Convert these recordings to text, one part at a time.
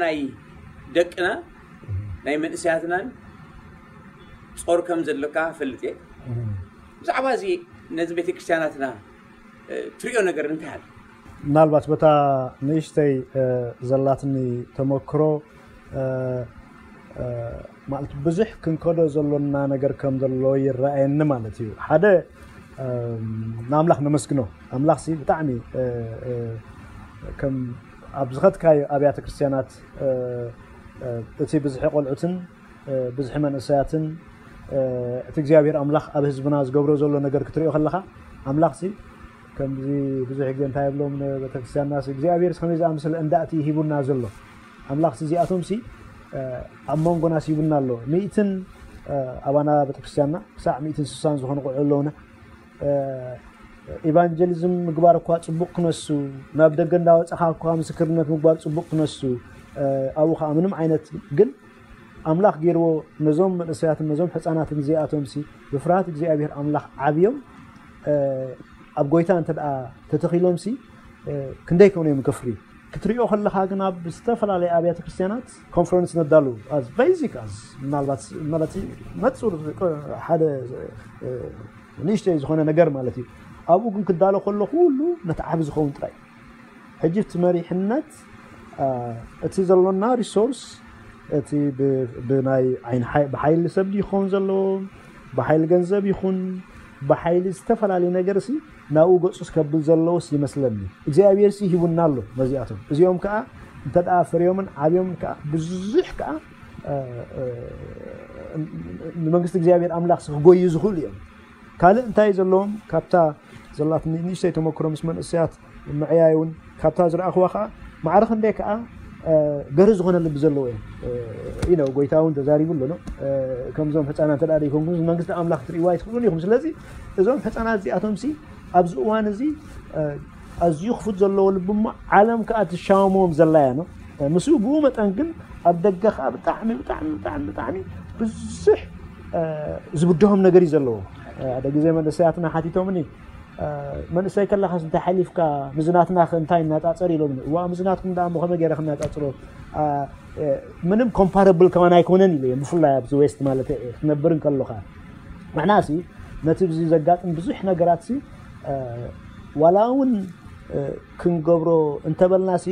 ናይ ደቅና ናይ መንእሰያትናን ጾር ከም ዘለካ ፈልጥ እየ። ብዛዕባ እዚ ነዚ ቤተክርስትያናትና ትሪኦ ነገር እንታይ ኣሎ? ምናልባት በታ ንእሽተይ ዘላትኒ ተመክሮ ማለት ብዙሕ ክንከዶ ዘሎና ነገር ከም ዘሎ ይረኣየኒ ማለት እዩ። ሓደ ንኣምላኽ ነመስግኖ። ኣምላኽ ሲ ብጣዕሚ ከም ኣብ ዝኸትካዮ ኣብያተ ክርስትያናት እቲ ብዝሒ ቆልዑትን ብዝሒ መንእሰያትን እቲ እግዚኣብሔር ኣምላኽ ኣብ ህዝብና ዝገብሮ ዘሎ ነገር ክትሪኦ ከለኻ ኣምላኽ ሲ ከምዚ ብዙሕ ግዜ እንታይ ይብሎም ንቤተክርስትያንና እግዚኣብሔር ከመይ ዝኣምስለ እንዳእቲ ሂቡና ዘሎ ኣምላኽ እዚኣቶም ሲ ኣብ መንጎና ሲቡና ኣሎ። ሚእትን ኣባና ቤተክርስትያንና ክሳዕ ሚእትን ስሳን ዝኾኑ ቆልዑ ኣለውና። ኢቫንጀሊዝም ምግባር እኳ ፅቡቅ ክነሱ ናብ ደገ እንዳወፀኻ እኳ ምስክርነት ምግባር ፅቡቅ ክነሱ ኣብኡ ከዓ ምንም ዓይነት ግን ኣምላኽ ገይርዎ ነዞም መንእሰያትን ነዞም ሕፃናትን እዚኣቶም ሲ ብፍርሃት እግዚኣብሔር ኣምላኽ ዓብዮም ኣብ ጎይታ እንተ ደኣ ተተኺሎም ሲ ክንደይ ከውን እዮም ከፍሪ ክትሪኦ ከለኻ ግን ኣብ ዝተፈላለየ ኣብያተ ክርስትያናት ኮንፈረንስ ነዳሉ as basic as ምናልባት ማለት መፅር ሓደ ንእሽተይ ዝኾነ ነገር ማለት እዩ። ኣብኡ ግን ክዳሎ ከሎ ኩሉ ነቲ ዓቢ ዝኸውን ጥራይ ሕጂ እቲ መሪሕነት እቲ ዘሎና ሪሶርስ እቲ ብናይ ብሓይሊ ሰብ ክኸውን ዘለዎ ብሓይሊ ገንዘብ ይኹን ብሓይሊ ዝተፈላለዩ ነገር ሲ ናብኡ ገፁ ከብል ዘለዎስ ይመስለኒ እግዚኣብሔር ሲ ሂቡና ኣሎ ነዚኣቶም እዚኦም ከዓ እንተ ፍርዮምን ዓብዮምን ከዓ ብዙሕ ከዓ ንመንግስቲ እግዚኣብሔር ኣምላኽ ክጎዩ ዝኽእሉ እዮም። ካልእ እንታይ ዘለዎም ካብታ ዘላት ንእሽተይ ተመክሮ ምስ መንእሰያት ምዕያይ እውን ካብታ ዝረኣኽዋ ከዓ ማዕረ ክንደይ ከዓ ገርህ ዝኾነ ልቢ ዘለዎ እዮም ኢነ ጎይታ እውን ተዛሪቡ ኣሎ። ከምዞም ህፃናት እንተ ደኣ ዘይኮንኩም መንግስቲ ኣምላኽ ትርእይዋ ኣይትኽእሉን ኢኹም። ስለዚ እዞም ህፃናት እዚኣቶም ሲ ኣብዚ እዋን እዚ ኣዝዩ ክፉት ዘለዎ ልቢ እሞ ዓለም ከዓ ትሻመሞም ዘላ እያ ነው። ምስኡ ብኡ መጠን ግን ኣብ ደገ ከዓ ብጣዕሚ ብጣዕሚ ብጣዕሚ ብጣዕሚ ብዙሕ ዝብድሆም ነገር እዩ ዘለዎ። ሓደ ግዜ መንእሰያትና ሓቲቶምኒ መንእሰይ ከለኻስ እንታይ ሓሊፍካ ምዝናትና እንታይ እናፃፀር ኢሎምኒ። እዋ ምዝናትኩም ደኣ ከመይ ገይረ ክናፃፅሮ ምንም ኮምፓረብል ከማን ኣይኮነን ኢለ ብፍላይ ኣብዚ ዌስት ማለት ክትነብር እንከሎካ ንሕና ሲ ነቲ ብዚ ዘጋጥም ብዙሕ ነገራት ሲ ዋላ እውን ክንገብሮ እንተበልና ሲ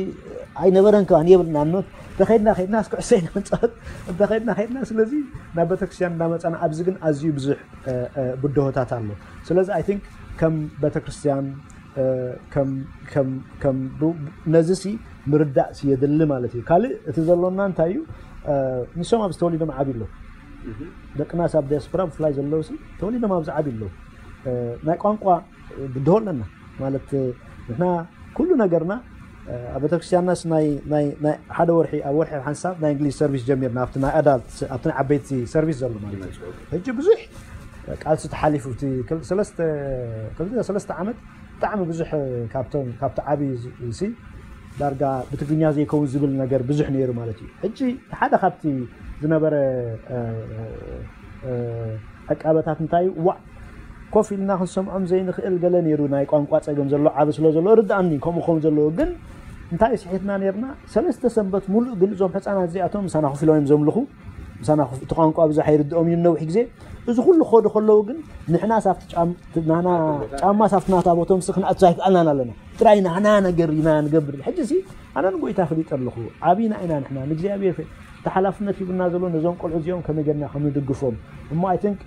ኣይነበረን ከማን የብልና ኖት እንተኸድና ከድና እስክዕሰ ኢና ንፃወት እንተኸድና ከድና ስለዚ ናብ ቤተክርስትያን እናመፃና ኣብዚ ግን ኣዝዩ ብዙሕ ብድሆታት ኣሎ። ስለዚ ኣይ ቲንክ ከም ቤተክርስትያን ነዚ ሲ ምርዳእ ሲ የድሊ ማለት እዩ። ካልእ እቲ ዘሎና እንታይ እዩ? ንሶም ኣብዚ ተወሊዶም ዓብዩ ኣለዉ። ደቅና ሲ ኣብ ዲያስፖራ ብፍላይ ዘለዉ ሲ ተወሊዶም ኣብዚ ዓብዩ ኣለዉ። ናይ ቋንቋ ብድሆ ኣለና ማለት ንሕና ኩሉ ነገርና ኣብ ቤተክርስትያንናስ ናይ ሓደ ወርሒ ኣብ ወርሒ ሓንሳብ ናይ እንግሊዝ ሰርቪስ ጀሚርና ኣብቲ ናይ ኣዳልት ኣብቲ ናይ ዓበይቲ ሰርቪስ ዘሎ ማለት እዩ። ሕጂ ብዙሕ ቃልሲ ተሓሊፉ እቲ ሰለስተ ዓመት ብጣዕሚ ብዙሕ ካብቶም ካብቲ ዓብዪ ሲ ዳርጋ ብትግርኛ ዘይከውን ዝብል ነገር ብዙሕ ነይሩ ማለት እዩ። ሕጂ ሓደ ካብቲ ዝነበረ ዕቃበታት እንታይ እዩ? ዋዕ ኮፍ ኢልና ክንሰምዖም ዘይንኽእል ገለ ነይሩ ናይ ቋንቋ ጸገም ዘሎ ዓቢ ስለ ዘሎ ርድኣኒ ከምኡ ክኸውን ዘለዎ ግን እንታይ ስሒትና ነርና ሰለስተ ሰንበት ሙሉእ ግን እዞም ሕፃናት እዚኣቶም ምሳና ኮፍ ኢሎም እዮም ዘምልኹ ምሳና እቲ ቋንቋ ብዙሕ ኣይርድኦም እዩ ነዊሕ ግዜ እዚ ኩሉ ክኸዱ ከለዉ ግን ንሕና ሳብቲ ናና ጫማ ሳብቲ ናታ ቦቶም ሲ ክንኣቱ ኣይክኣልናን ኣለና ጥራይ ናና ነገር ኢና ንገብር ሕጂ ሲ ኣነ ንጎይታ ፈሊጠ ኣለኹ ዓብና ኢና ንሕና ንእግዚኣብሔር እቲ ሓላፍነት ሂቡና ዘሎ ነዞም ቆልዑ እዚኦም ከመይ ጌርና ከም ንድግፎም እሞ ኣይ ቲንክ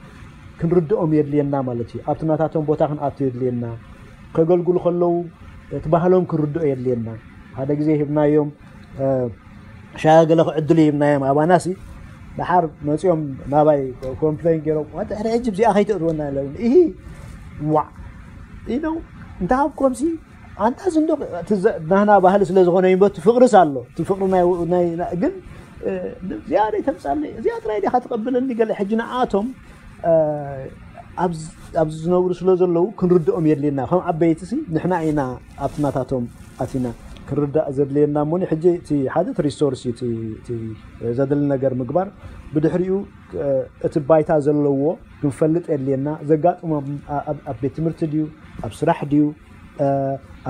ክንርድኦም የድልየና ማለት እዩ ኣብቲ ናታቶም ቦታ ክንኣቱ የድልየና ከገልግሉ ከለዉ እቲ ባህሎም ክንርድኦ የድልየና ሓደ ግዜ ሂብናዮም ሻያ ገለ ክዕድሉ ሂብናዮም ኣባና ሲ ደሓር መፂኦም ናባይ ኮምፕሌን ገይሮም ዋተ ሕጂ እዚኣ ከይትእትወና ኢሎም ኢሂ ዋዕ ኢለው እንታይ ሃብኮም ሲ ኣንታ ዝንዶ ናህና ባህሊ ስለ ዝኾነ ይበቱ ፍቅርስ ኣሎ እቲ ፍቅሪ ግን እዚኣ ደይ ተምፃለይ እዚኣ ጥራይ ዲኻ ትቐብለኒ ገለ ሕጂ ንኣቶም ኣብዚ ዝነብሩ ስለ ዘለዉ ክንርድኦም የድልየና ከም ዓበይቲ ሲ ንሕና ኢና ኣብቲ ናታቶም ኣቲና ክንርዳእ ዘድልየና እሞኒ ሕጂ እቲ ሓደ እቲ ሪሶርስ እዩ ዘድሊ ነገር ምግባር ብድሕሪኡ እቲ ባይታ ዘለዎ ክንፈልጥ የድልየና ዘጋጥሞም ኣብ ቤት ትምህርቲ ድዩ ኣብ ስራሕ ድዩ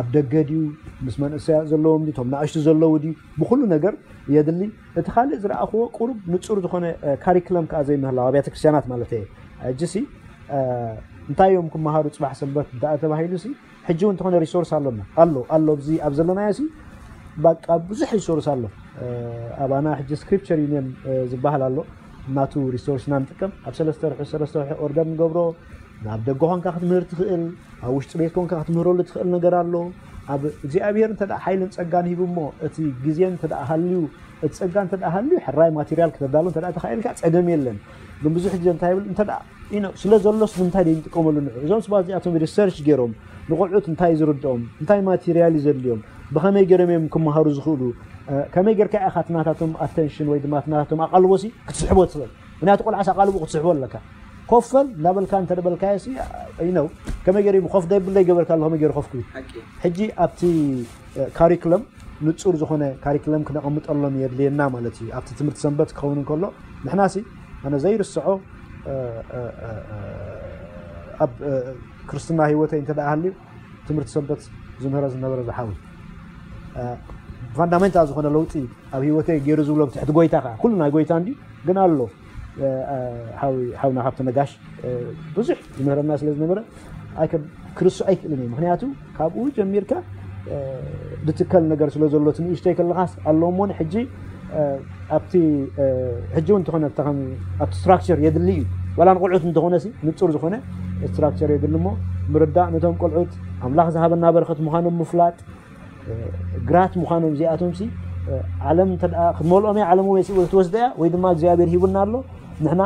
ኣብ ደገ ድዩ፣ ምስ መንእሰያት ዘለዎም ድዩ፣ እቶም ንኣሽቱ ዘለዉ ድዩ፣ ብኹሉ ነገር የድሊ። እቲ ካልእ ዝረኣኽዎ ቁሩብ ንጹር ዝኾነ ካሪክለም ከዓ ዘይምህላው ኣብያተ ክርስቲያናት ማለት እየ። ሕጂ ሲ እንታይ እዮም ክመሃሩ ጽባሕ ሰንበት እንተኣ ተባሂሉ ሲ ሕጂ እውን እንተኾነ ሪሶርስ ኣሎና ኣሎ ኣሎ ኣብዚ ኣብ ዘለናዮ ሲ በቃ ብዙሕ ሪሶርስ ኣሎ። ኣባና ሕጂ ስክሪፕቸር ዩኒየን ዝበሃል ኣሎ። ናቱ ሪሶርስና ንጥቀም። ኣብ ሰለስተ ርሑ ሰለስተ ርሑ ኦርደር ንገብሮ። ናብ ደገ ኮንካ ክትምህር ትኽእል፣ ኣብ ውሽጢ ቤት ኮንካ ክትምህረሉ ትኽእል ነገር ኣሎ። ኣብ እግዚኣብሔር እንተ ሓይልን ጸጋን ሂቡ እሞ እቲ ግዜ እንተ ሃልዩ እቲ ጸጋ እንተ ሃልዩ ሕራይ ማቴሪያል ክተዳሉ እንተ ተኻኢልካ ጸገም የለን። ግን ብዙሕ ግዜ እንታይ ይብል እንተ ስለ ዘሎስ ንምንታይ ደይንጥቀመሉ ንዑ እዞም ስባት እዚኣቶም ሪሰርች ገይሮም ንቆልዑት እንታይ ዝርድኦም እንታይ ማቴሪያል እዩ ዘድልዮም ብኸመይ ገይሮም እዮም ክመሃሩ ዝኽእሉ ከመይ ጌርካ ኢኻ ትናታቶም ኣተንሽን ወይ ድማ ትናታቶም ኣቓልቦ ሲ ክትስሕቦ ትኽእል። ምክንያቱ ቆልዓስ ኣቓልቦ ክትስሕቦ ኣለካ። ኮፈል እናበልካ እንተደበልካዮ ሲ ነው ከመይ ገይሩ ኮፍ ደብል ዘይገበርካ ኣሎ ከመይ ገይሩ ኮፍ ክብል። ሕጂ ኣብቲ ካሪክለም ንጹር ዝኾነ ካሪክለም ክነቐምጠሎም የድልየና ማለት እዩ። ኣብቲ ትምህርቲ ሰንበት ክኸውን እንከሎ ንሕና ሲ ኣነ ዘይርስዖ ኣብ ክርስትና ህይወተይ እንተ ደኣ ሃልዩ ትምህርቲ ሰንበት ዝምህረ ዝነበረ ዝሓዊ ፋንዳሜንታል ዝኾነ ለውጢ ኣብ ህይወተይ ገይሩ ዝብሎ ብትሕቲ ጎይታ ከዓ ኩሉ ናይ ጎይታ እንዲ ግን ኣሎ ሓውና ካብቲ ነጋሽ ብዙሕ ዝምህረና ስለ ዝነበረ ኣይከም ክርስ ኣይክእልን እዩ። ምክንያቱ ካብኡ ጀሚርካ ዝትከል ነገር ስለ ዘሎ እቲ ንእሽተይ ከለኻስ ኣለዎ እሞ ሕጂ ኣብቲ ሕጂ እውን እንተኾነ ኣብቲ ስትራክቸር የድሊ እዩ። ዋላ ንቆልዑት እንተኾነ ሲ ንጹር ዝኾነ ስትራክቸር የድሊ እሞ ምርዳእ ነቶም ቆልዑት ኣምላኽ ዝሃበና በረኸት ምዃኖም ምፍላጥ ግራት ምዃኖም እዚኣቶም ሲ ዓለም እንተ ክትመልኦም እያ ዓለም ወይ ትወስደ እያ ወይ ድማ እግዚኣብሔር ሂቡና ኣሎ ንሕና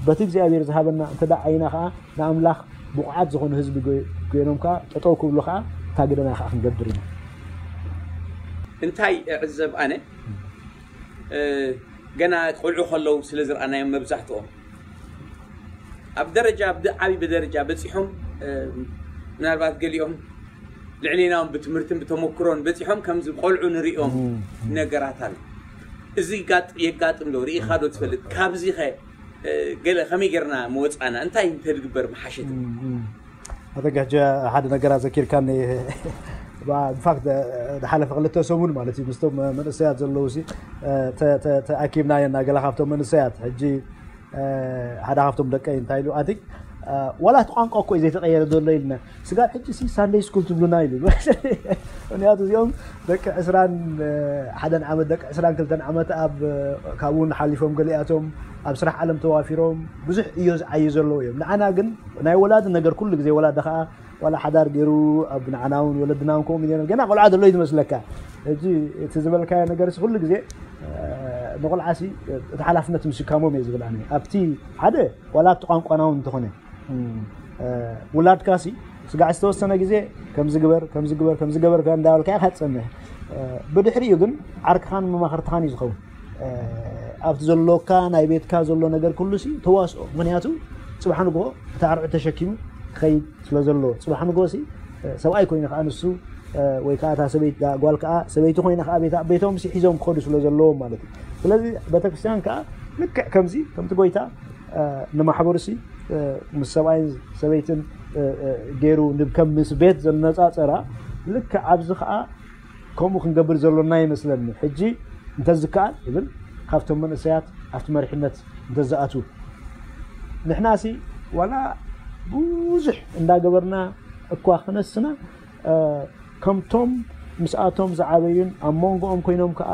በቲ እግዚኣብሔር ዝሃበና እንተ ዓይና ከዓ ንኣምላኽ ብቑዓት ዝኾኑ ህዝቢ ኮይኖም ከዓ ጠጠው ክብሉ ከዓ እታ ግደና ከዓ ክንገብር ኢና። እንታይ እዕዘብ ኣነ ገና ቆልዑ ከለዉ ስለ ዝረኣናዮም መብዛሕትኦም ኣብ ደረጃ ዓብዪ ብደረጃ በፂሖም ምናልባት ገሊኦም ልዕሌናውን ብትምህርትን ብተመክሮን በፂሖም ከምዚ ቆልዑ ንሪኦም ነገራት ኣሎ። እዚ የጋጥም ዶ ርኢኻ ዶ ትፈልጥ? ካብዚ ኸ ገለ ከመይ ጌርና መወፃና እንታይ እንተድግበር መሓሸት? ኣተጋ ሕጂ ሓደ ነገራት ዘኪርካኒ ኢንፋክት ዝሓለፈ ክልተ ሰሙን ማለት እዩ ምስቶም መንእሰያት ዘለዉ ተኣኪብና የና ገለ ካብቶም መንእሰያት ሕጂ ሓደ ካብቶም ደቀይ እንታይ ኢሉ ኣቲ ዋላ እቲ ቋንቋ እኮ እዩ ዘይተቀየረ ዘሎ ኢልና ስጋብ ሕጂ ሲ ሳንደይ ስኩል ትብሉና ኢሉ ምክንያቱ እዚኦም ደቂ ዕስራን ሓደን ዓመት ደቂ ዕስራን ክልተን ዓመት ኣብ ካብኡ ሓሊፎም ገሊኣቶም ኣብ ስራሕ ዓለም ተዋፊሮም ብዙሕ እዮ ዝዓዩ ዘለዉ እዮም። ንዓና ግን ናይ ወላዲ ነገር ኩሉ ግዜ ወላዲ ከዓ ዋላ ሓዳር ገይሩ ኣብ ንዓና እውን ወለድና እውን ከምኡ ገይሩ ገና ቆልዓ ዘሎ እዩ ዝመስለካ። ሕጂ እቲ ዝበልካዮ ነገር ኩሉ ግዜ ንቆልዓ ሲ እቲ ሓላፍነት ምሽካሞም እየ ዝብል ኣነ ኣብቲ ሓደ ዋላ ኣብቲ ቋንቋና እውን እንተኾነ ውላድካ ሲ ስጋዕ ዝተወሰነ ግዜ ከምዚ ግበር ከምዚ ግበር ከምዚ ገበርካ እንዳበልካ ኢኻ ትፀንሕ። ብድሕሪኡ ግን ዓርክኻን መማኽርትኻን እዩ ዝኸውን። ኣብቲ ዘሎካ ናይ ቤትካ ዘሎ ነገር ኩሉ ሲ ተዋስኦ። ምክንያቱ ፅባሕ ንግሆ እቲ ኣርዑት ተሸኪሙ ክኸይድ ስለ ዘሎ ፅባሕ ንግሆ ሲ ሰብኣይ ኮይኑ ከዓ ንሱ ወይ ከዓ እታ ሰበይቲ ጓል ከዓ ሰበይቲ ኮይና ከዓ ቤታ ቤቶም ሲ ሒዞም ክኸዱ ስለ ዘለዎም ማለት እዩ። ስለዚ ቤተክርስትያን ከዓ ልክዕ ከምዚ ከምቲ ጎይታ ንማሕበሩ ሲ ምስ ሰብኣይን ሰበይትን ገይሩ ከም ምስ ቤት ዘነፃፀራ ልክዕ ኣብዚ ከዓ ከምኡ ክንገብር ዘሎና ይመስለኒ። ሕጂ እንተዝከኣል ይብል ካብቶም መንእሰያት ኣብቲ መሪሕነት እንተዝኣትዉ ንሕና ሲ ዋላ ብዙሕ እንዳገበርና እኳ ክነስና ከምቶም ምስኣቶም ዝዓበዩን ኣብ መንጎኦም ኮይኖም ከዓ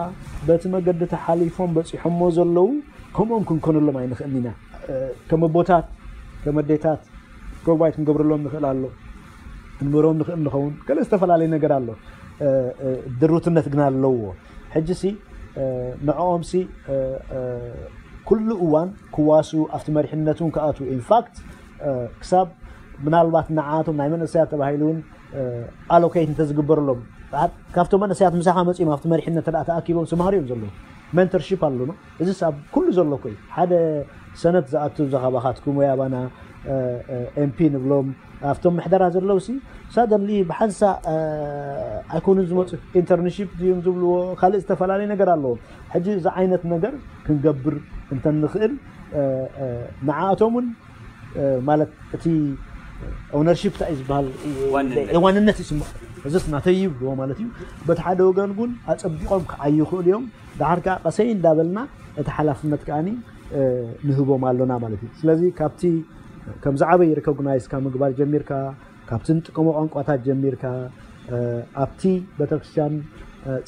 በቲ መገዲ ተሓሊፎም በፂሖሞ ዘለዉ ከምኦም ክንኮነሎም ኣይንኽእልን ኢና። ከም ኣቦታት ከም ኣዴታት ፕሮቫይድ ክንገብረሎም ንኽእል ኣሎ ክንምህሮም ንኽእል ንኸውን ገለ ዝተፈላለየ ነገር ኣሎ። ድሩትነት ግን ኣለዎ። ሕጂ ሲ ንዕኦም ሲ ኩሉ እዋን ክዋሱ ኣብቲ መሪሕነት እውን ክኣትዉ ኢንፋክት ክሳብ ምናልባት ንዓቶም ናይ መንእሰያት ተባሂሉ እውን ኣሎኬት እንተዝግበረሎም ካብቶም መንእሰያት ምሳኻ መፂኦም ኣብቲ መሪሕነት ተኣ ተኣኪቦም ዝመሃሩ እዮም ዘለዉ። ሜንተርሺፕ ኣለኖ። እዚ ኣብ ኩሉ ዘሎ እኮ እዩ። ሓደ ሰነት ዝኣቱ ዘኻባኻትኩም ወይ ኣባና ኤምፒ ንብሎም ኣብቶም ምሕደራ ዘለዉ ሲ ሳደንሊ ብሓንሳ ኣይኮኑን ዝመፁ ኢንተርንሺፕ ድዮም ዝብልዎ ካልእ ዝተፈላለዩ ነገር ኣለዎም። ሕጂ እዚ ዓይነት ነገር ክንገብር እንተንኽእል ንዓኣቶም እውን ማለት እቲ ኦነርሺፕ እንታይ እዩ ዝበሃል ዋንነት ይስምዖ እዚ ናተይ ይብልዎ ማለት እዩ። በቲ ሓደ ወገን እውን ኣጸቢቖም ክዓዩ ይኽእሉ እዮም። ደሓር ከዓ ቀሰይ እንዳበልና እቲ ሓላፍነት ከዓኒ ንህቦም ኣሎና ማለት እዩ። ስለዚ ካብቲ ከም ዝዓበየ ሪኮግናይዝ ካብ ምግባር ጀሚርካ፣ ካብቲ ንጥቀሞ ቋንቋታት ጀሚርካ፣ ኣብቲ ቤተክርስትያን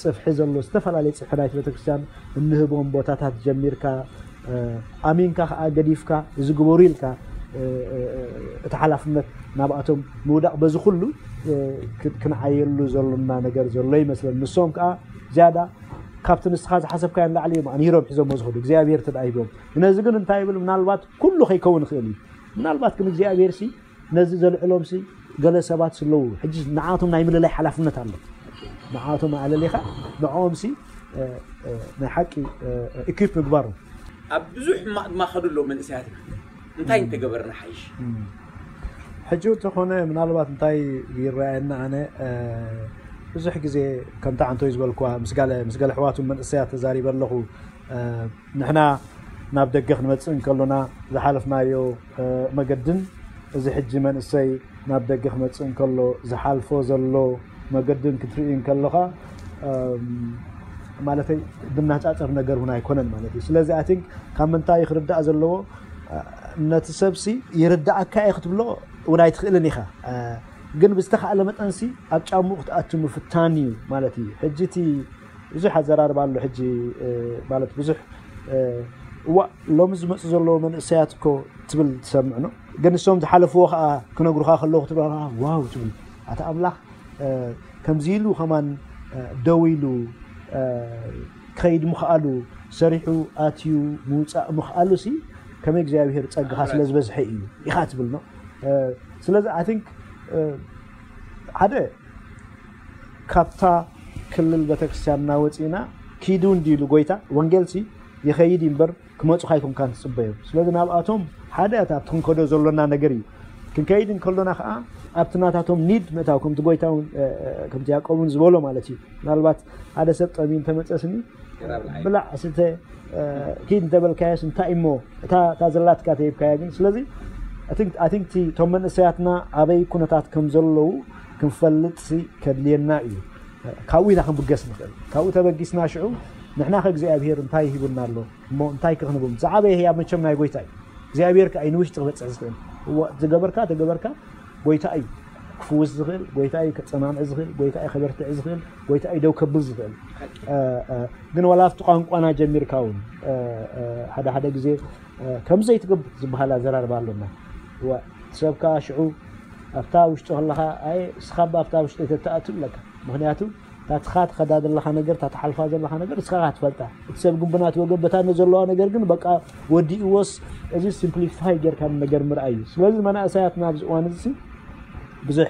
ጽፍሒ ዘሎ፣ ዝተፈላለየ ጽፍሒ ናይቲ ቤተክርስትያን እንህቦም ቦታታት ጀሚርካ፣ ኣሚንካ ከዓ ገዲፍካ እዚ ግበሩ ኢልካ እቲ ሓላፍነት ናብኣቶም ምውዳቕ፣ በዚ ኩሉ ክንዓየሉ ዘሎና ነገር ዘሎ ይመስለኒ። ንሶም ከዓ ዝያዳ ካብቲ ንስኻ ዝሓሰብካዮ ንላዕሊ እዮም ኣንሂሮም ሒዞሞ ዝኸዱ እግዚኣብሔር ተዳሂቦም። ነዚ ግን እንታይ ይብል፣ ምናልባት ኩሉ ከይከውን ይኽእል እዩ። ምናልባት ግን እግዚኣብሔር ሲ ነዚ ዘልዕሎም ሲ ገለ ሰባት ስለዉ ሕጂ ንዓቶም ናይ ምልላይ ሓላፍነት ኣሎ። ንዓቶም ኣለሊኻ ንዕኦም ሲ ናይ ሓቂ ኢኩፕ ምግባሩ። ኣብ ብዙሕ ሕማቕ ድማ ከዱ ኣለዉ መንእሰያትና። እንታይ እንተገበርና ሓይሽ? ሕጂ እንተኾነ ምናልባት እንታይ ይረኣየና ኣነ ብዙሕ ግዜ ከምታ ዓንቶይ ዝበልኩዋ ምስ ጋለ ምስ ገለ ኣሕዋቱ መንእሰያት ተዛሪበ ኣለኹ። ንሕና ናብ ደገ ክንመጽእ እንከሎና ዝሓለፍናዮ መገድን እዚ ሕጂ መንእሰይ ናብ ደገ ክመጽእ እንከሎ ዝሓልፎ ዘሎ መገድን ክትርኢ እንከለኻ ማለተይ ብናጻጸር ነገር እውን ኣይኮነን ማለት እዩ። ስለዚ ኣይ ቲንክ ካብ ምንታይ ክርዳእ ዘለዎ ነቲ ሰብሲ ይርዳእካ እየ ክትብሎ እውን ኣይትኽእልን ኢኻ። ግን ብዝተኻእለ መጠንሲ ኣብ ጫምኡ ክትኣቱ ምፍታን እዩ ማለት እዩ። ሕጂ እቲ ብዙሕ ኣዘራርባ ኣሎ ሕጂ ማለት ብዙሕ እዋ ሎሚ ዝመፁ ዘለዎ መንእሰያት እኮ ትብል ትሰምዕ ነው። ግን እሶም ዝሓለፍዎ ከዓ ክነግሩኻ ከለዉ ክትብላ ዋው ትብል ኣቲ ኣምላኽ ከምዚ ኢሉ ከማን ደው ኢሉ ክኸይድ ምኽኣሉ፣ ሰሪሑ ኣትዩ ምውፃእ ምኽኣሉ ሲ ከመይ እግዚኣብሔር ፀጋኻ ስለ ዝበዝሐ እዩ ኢኻ ትብል ነው። ስለዚ ኣይ ቲንክ ሓደ ካብታ ክልል ቤተክርስትያንና ወፂእና ኪዱ እንዲሉ ጎይታ ወንጌል ሲ ይኸይድ እዩ እምበር ክመፁ ካይኮንካን ትፅበዮም። ስለዚ ናብኣቶም ሓደ እታ ኣብቲ ክንከዶ ዘሎና ነገር እዩ። ክንከይድ እንከሎና ከዓ ኣብቲ ናታቶም ኒድ ምእታው ከምቲ ጎይታ እውን ከምቲ ያዕቆብ እውን ዝበሎ ማለት እዩ። ምናልባት ሓደ ሰብ ጠሚ እንተመፀስኒ ብላዕ ስተ ኪድ እንተበልካዮስ እንታይ እሞ እታ ዘላትካ ተሂብካያ ግን ስለዚ ኣቲንክቲ እቶም መንእሰያትና ኣበይ ኩነታት ከም ዘለዉ ክንፈልጥ ሲ ከድልየና እዩ። ካብኡ ኢና ክንብገስ ንኽእል። ካብኡ ተበጊስና ሽዑ ንሕና ከእግዚኣብሔር እንታይ ሂቡና ኣሎ እሞ እንታይ ክኽንቦም ዝዓበየ ህያብ መቸም ናይ ጎይታ እዩ። እግዚኣብሔር ከኣ ንውሽጢ ክበፅሕ ዝኽእል ዝገበርካ ተገበርካ ጎይታ እዩ ክፍውስ ዝኽእል፣ ጎይታ እዩ ከፀናንዕ ዝኽእል፣ ጎይታ እዩ ከበርትዕ ዝኽእል፣ ጎይታ እዩ ደው ከብል ዝኽእል። ግን ዋላ ኣብቲ ቋንቋና ጀሚርካ እውን ሓደ ሓደ ግዜ ከም ዘይትገብር ዝበሃል ኣዘራርባ ኣሎና። ሰብ ከዓ ሽዑ ኣብታ ውሽጢ ከለኻ ኣይ እስኻ ኣብታ ውሽጢ ተተኣቱ ኣለካ። ምክንያቱ ታትኻ ትኸዳ ዘለኻ ነገር ታትሓልፋ ዘለኻ ነገር እስኻ ትፈልጣ። እቲ ሰብ ግን ብናቲ ወገን በታ ዘለዋ ነገር ግን በቃ ወዲእዎስ እዚ ሲምፕሊፋይ ጌርካ ነገር ምርኣይ እዩ። ስለዚ መናእሰያትና ኣብዚ እዋን እዚ ብዙሕ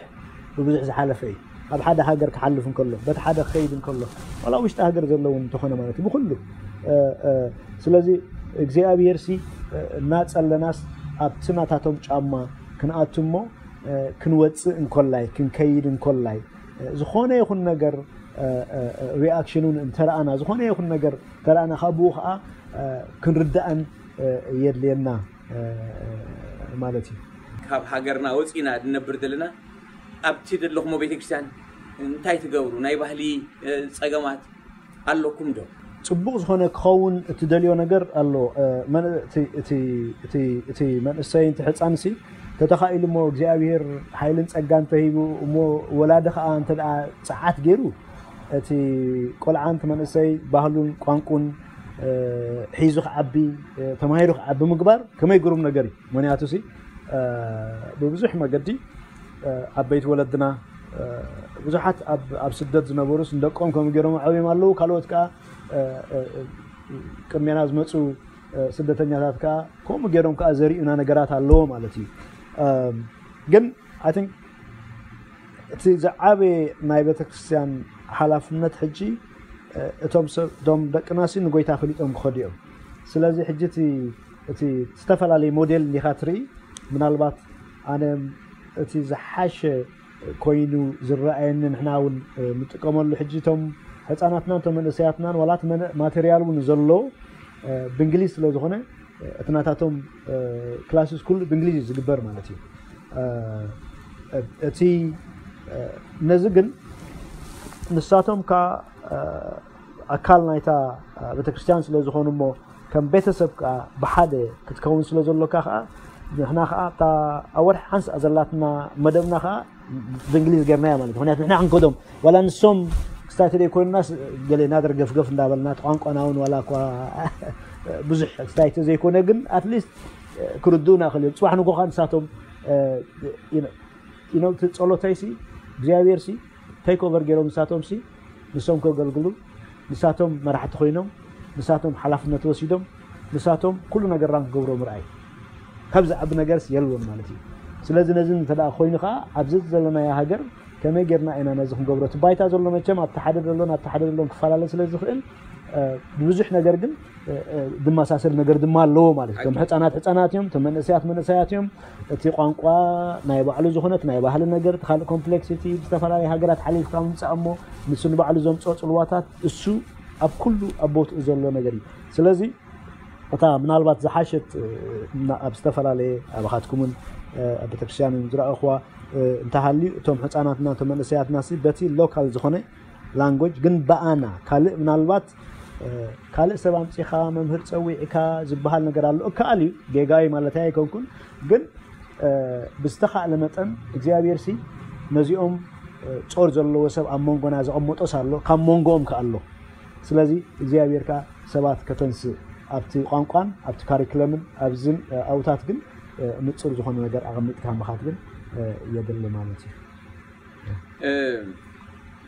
ብብዙሕ ዝሓለፈ እዩ። ኣብ ሓደ ሃገር ክሓልፍ እንከሎ በቲ ሓደ ክኸይድ እንከሎ ዋላ ውሽጢ ሃገር ዘለውን እንተኾነ ማለት እዩ ብኩሉ ስለዚ እግዚኣብሔር ሲ እናጸለናስ ኣብቲ ናታቶም ጫማ ክንኣቱ እሞ ክንወፅእ እንኮላይ ክንከይድ እንኮላይ ዝኾነ ይኹን ነገር ሪኣክሽኑን እንተረኣና ዝኾነ ይኹን ነገር ተረኣና ካብኡ ከዓ ክንርዳእን የድልየና ማለት እዩ። ካብ ሃገርና ወፂና ድነብር ዘለና ኣብቲ ዘለኹሞ ቤተክርስትያን እንታይ ትገብሩ ናይ ባህሊ ፀገማት ኣለኩም ዶ? ጽቡቕ ዝኾነ ክኸውን እትደልዮ ነገር ኣሎ። እቲ መንእሰይ እቲ ሕፃንሲ ተተኻኢሉ እሞ እግዚኣብሔር ሓይልን ጸጋን ተሂቡ እሞ ወላዲ ከዓ እንተ ደኣ ጸዓት ገይሩ እቲ ቆልዓ እቲ መንእሰይ ባህሉን ቋንቁን ሒዙ ክዓቢ ተማሂሩ ክዓቢ ምግባር ከመይ ግሩም ነገር እዩ። ምክንያቱ ሲ ብብዙሕ መገዲ ዓበይቲ ወለድና ብዙሓት ኣብ ስደት ዝነበሩስ ንደቆም ከምኡ ገይሮም ዓብዮም ኣለዉ። ካልኦት ከዓ ቅድሜና ዝመፁ ስደተኛታት ከዓ ከምኡ ገይሮም ከዓ ዘርእዩና ነገራት ኣለዎ ማለት እዩ። ግን ኣይ ቲንክ እቲ ዝዓበየ ናይ ቤተክርስትያን ሓላፍነት ሕጂ እቶም ሰብ እቶም ደቅናሲ ንጎይታ ፈሊጦም ክኸዱ እዮም። ስለዚ ሕጂ እቲ እቲ ዝተፈላለየ ሞዴል እንዲኻ ትርኢ ምናልባት ኣነ እቲ ዝሓሸ ኮይኑ ዝረኣየኒ ንሕና እውን ንጥቀመሉ ሕጂ እቶም ህፃናትናን እቶም መንእሰያትናን ዋላት ማቴርያል እውን ዘሎ ብእንግሊዝ ስለ ዝኾነ እቲ ናታቶም ክላስስ ኩሉ ብእንግሊዝ እዩ ዝግበር ማለት እዩ። እቲ ነዚ ግን ንሳቶም ከ ኣካል ናይታ ቤተክርስትያን ስለ ዝኾኑ እሞ ከም ቤተሰብ ከ ብሓደ ክትከውን ስለ ዘሎካ ከ ንሕና ከ ኣብታ ኣብ ወርሒ ሓንሳ ዘላትና መደብና ከ ብእንግሊዝ ገርናያ ማለት ምክንያቱ ንሕና ክንከዶም ዋላ ንሶም ክስታይ ተደይ ኮይንና ገለ ናደር ገፍገፍ እንዳበልና ቋንቋና እውን ዋላ እኳ ብዙሕ ክስታይ ተዘይኮነ ግን ኣትሊስት ክርድኡና ክእል እዮም ፅባሕ ንጎኻ ንሳቶም ኢኖ እቲ ጸሎተይሲ እግዚኣብሔር ሲ ቴክ ኦቨር ገይሮም ንሳቶም ሲ ንሶም ከገልግሉ ንሳቶም መራሕቲ ኮይኖም ንሳቶም ሓላፍነት ወሲዶም ንሳቶም ኩሉ ነገርና ክገብሮ ምርኣይ ካብ ዝዓቢ ነገርስ የልቦን ማለት እዩ። ስለዚ ነዚ እንተ ኮይኑ ከዓ ኣብዚ ዘለናዮ ሃገር ከመይ ጌርና ኢና ነዚ ክንገብሮ እቲ ባይታ ዘሎ መቸም ኣብቲ ሓደ ዘሎን ኣብቲ ሓደ ዘሎን ክፈላለ ስለ ዝኽእል ብብዙሕ ነገር ግን ዝመሳሰል ነገር ድማ ኣለዎ ማለት እዩ። እቶም ሕፃናት ሕፃናት እዮም፣ እቶም መንእሰያት መንእሰያት እዮም። እቲ ቋንቋ ናይ ባዕሉ ዝኾነ እቲ ናይ ባህሊ ነገር እቲ ካልእ ኮምፕሌክሲቲ ብዝተፈላለየ ሃገራት ሓሊፍካ ምምፃእ እሞ ንሱ ንባዕሉ ዘምፅኦ ፅልዋታት እሱ ኣብ ኩሉ ኣብ ቦትኡ ዘሎ ነገር እዩ። ስለዚ እታ ምናልባት ዝሓሸት ኣብ ዝተፈላለየ ኣባኻትኩምን ኣብ ቤተክርስትያንን ዝረኣኹዋ እንተሃልዩ እቶም ሕፃናትና እቶም መንእሰያትና በቲ ሎካል ዝኾነ ላንጎጅ ግን ብኣና ካልእ ምናልባት ካልእ ሰብ ኣምፂኻ መምህር ፀዊዕካ ዝበሃል ነገር ኣሎ እከኣል እዩ ጌጋይ ማለት ኣይኮንኩን ግን ብዝተኻእለ መጠን እግዚኣብሔር ሲ ነዚኦም ጾር ዘለዎ ሰብ ኣብ መንጎና ዘቐመጦስ ኣሎ ካብ መንጎኦም ከ ኣሎ ስለዚ እግዚኣብሔር ከ ሰባት ከተንስእ ኣብቲ ቋንቋን ኣብቲ ካሪክለምን ኣብዝን ኣውታት ግን ንጹር ዝኾነ ነገር ኣቐሚጥካ ምኻድ ግን የድሊ ማለት እዩ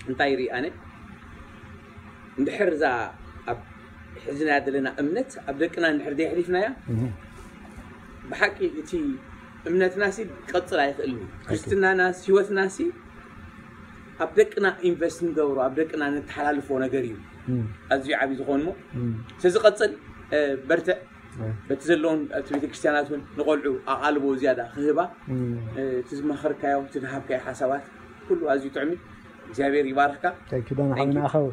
እንታይ ይርኢ ኣነ እንድሕር እዛ ኣብ ሕዝናያ ዘለና እምነት ኣብ ደቅና እንድሕር ዘይሕሊፍናያ ብሓቂ እቲ እምነትና ሲ ቀፅል ኣይኽእልን እዩ ክርስትናና ህይወትና ሲ ኣብ ደቅና ኢንቨስት ንገብሮ ኣብ ደቅና ነተሓላልፎ ነገር እዩ ኣዝዩ ዓብዪ ዝኾን ሞ ስለዝቐፅል በርትዕ በቲ ዘለውን ኣብቲ ቤተክርስትያናት እውን ንቆልዑ ኣቓልቦ ዝያዳ ክህባ እቲ ዝመኸርካዮ እቲ ዝሃብካዮ ሓሳባት ኩሉ ኣዝዩ ጥዕሚ እግዚኣብሔር ይባርክካ ዳና ሓብና ኣኸው